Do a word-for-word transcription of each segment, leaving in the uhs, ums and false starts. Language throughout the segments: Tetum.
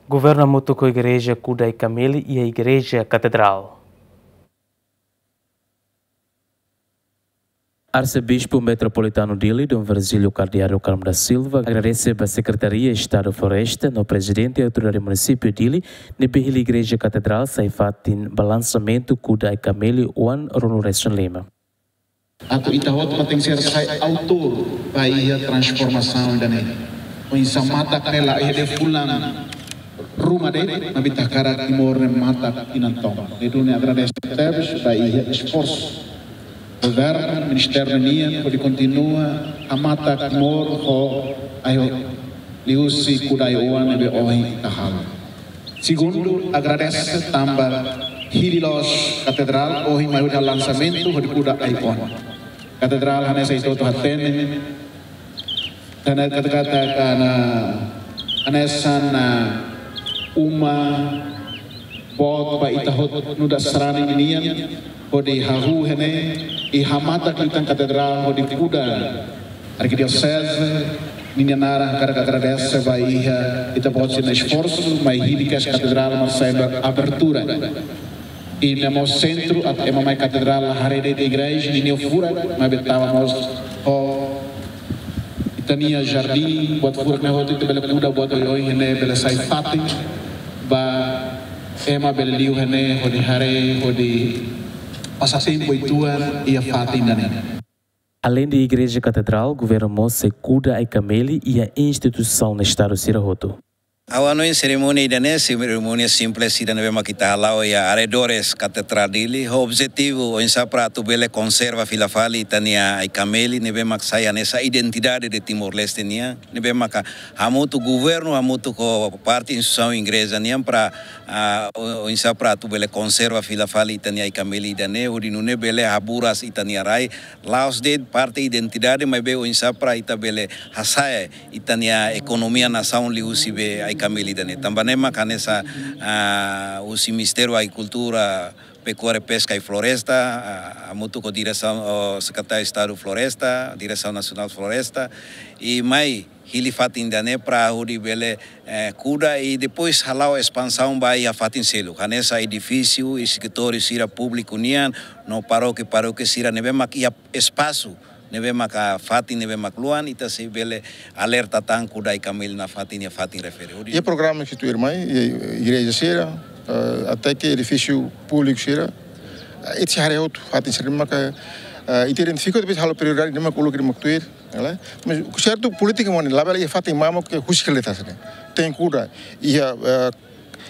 Governu hamutuk ho Igreja kuda Ai-Kameli iha Igreja Katedrál. Arsebispu Metropolitanu Dili, Dom Virgílio Cardeal do Carmo da Silva, agradese ba Sekretaria Estadu Floresta no Prezidente Autoridade Munisípiu Dili, ne'ebé hili Igreja Katedrál sai fatin ba lansamentu kuda Ai-Kameli oan ruanulu resin lima. Atu ita hotu mak tenke ser sai autór ba iha transformasaun ida-ne'e. Oinsá matak ne'e la iha de'it fulan ruma de'it, maibé ita hakarak Timor ne'e matak tinan tomak. Ne'e duni agradese tebes ba iha esforsu governu, ministériu nian, hodi kontinua hamatak Timor ho ai-oan liuhusi kuda ai-oan ne'ebé ohin ita halo. Segundu, agradese tanba hili loos Katedrál ohin mai hodi lansamentu hodi kuda ai-oan. Katedrál hanesan ita hotu hatene, hanesan kata-kata hanesan, ah, uma boot ba ita hotu nu'udar sarani ninian, hodi hahú iha ne'e, i hamatak liután Katedrál hodi kuda Arkidioseze ninia naran. Hakarak agradese ba iha ita-boot sira-nia esforsu, mai hili kedas Katedrál mak sai abertura. I ne'e mós sentru atu ema mai Katedrál la haree de'it igreja ninia furak, maibé tama mós ho ita-nia jardín, buat furak ne'e hotu ita bele kuda, buat oioin ne'e bele sai fatin ba ema bele liu iha ne'e hodi haree, hodi pasa tempu uitoan iha fatin ida-ne'e. Aleinde Igreja Katedrál, governu mós sei kuda Ai-Kameli iha instituisaun Estadu sira hotu. Ha'u hanoin serimónia ida-ne'e serimónia simples ida ne'ebé mak ita hala'o iha arredores Katedrál Dili, ho objetivu oinsá para atu bele konserva fila fali ita-nia Ai-Kameli ne'ebé mak sai hanesan identidade de Timor-Leste nian, ne'ebé maka hamutuk governu, hamutuk ho parte instituisaun igreja nian para, ah, o-, oinsá para atu bele konserva fila fali ita-nia Ai-Kameli ida-ne'e, hodi nune'e bele haburas ita-nia rai, la'ós de'it parte identidade, maibé oinsá para ita bele hasa'e ita-nia ekonomia nasaun liuhusi be Ai-Kameli ida-ne'e. Tanba ne'e mak hanesan, ah, husi Ministériu Agrikultura, Pekuária, Peska i Floresta, ah, hamutuk ho diresaun, ho Sekretáriu Estadu Floresta, Diresaun Nasionál Floresta, i mai hili fatin ida-ne'e para hodi bele, eh, kuda i depois hala'o espansaun ba iha fatin seluk. Hanesan edifísiu i escritóriu sira públiku nian, no parókia, parókia sira ne'ebé mak iha espasu ne'ebé maka fatin ne'ebé mak luan, ita sei bele alerta tan kuda Ai-Kameli nafatin iha fatin refere. Hodi iha programa ke tuir mai, iha igreja sira, eh, até ke edifísiu públiku sira, eh, ita sei haree hotu fatin sira maka, eh, ita identifika, depois halo prioridade ne'e mak uluk ne'e mak tuir, né? Mas sertu polítika mós ne'e, labele iha fatin mamuk ke husik leta sira. Tenke kuda, iha, eh,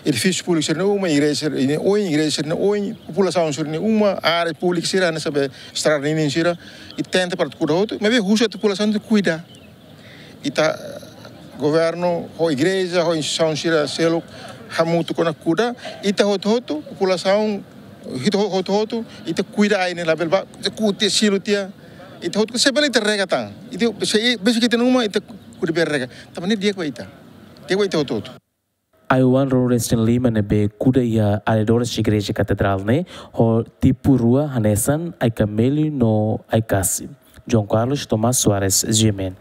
edifísiu públiku sira-nia uma, igreja sira-nia oin, igreja sira-nia oin, populasaun sira-nia uma, área públika sira, hanesan be estrada ninin sira, i tenta para kuda hotu, maibé husu atu populasaun atu kuda. Ita, eh, governu, ho igreja, ho instituisaun sira seluk, hamutuk ona kuda, ita hotu-hotu, populasaun, ita ho-, hotu-hotu, ita kuda ai ne'e labele ba, ita kuda silu tiha, ita hotu, se bele ita rega tan, ita, se, besi ita-nia uma, ita kuda bele rega, tanba ne'e di'ak ba ita, di'ak ba ita hotu-hotu. Ai-oan ruanulu resin lima ne'ebé kuda iha arredores Igreja Katedrál ne'e ho tipu rua hanesan Ai-Kameli no Ai-Kasi. João Carlos Tomás Soares, G M N.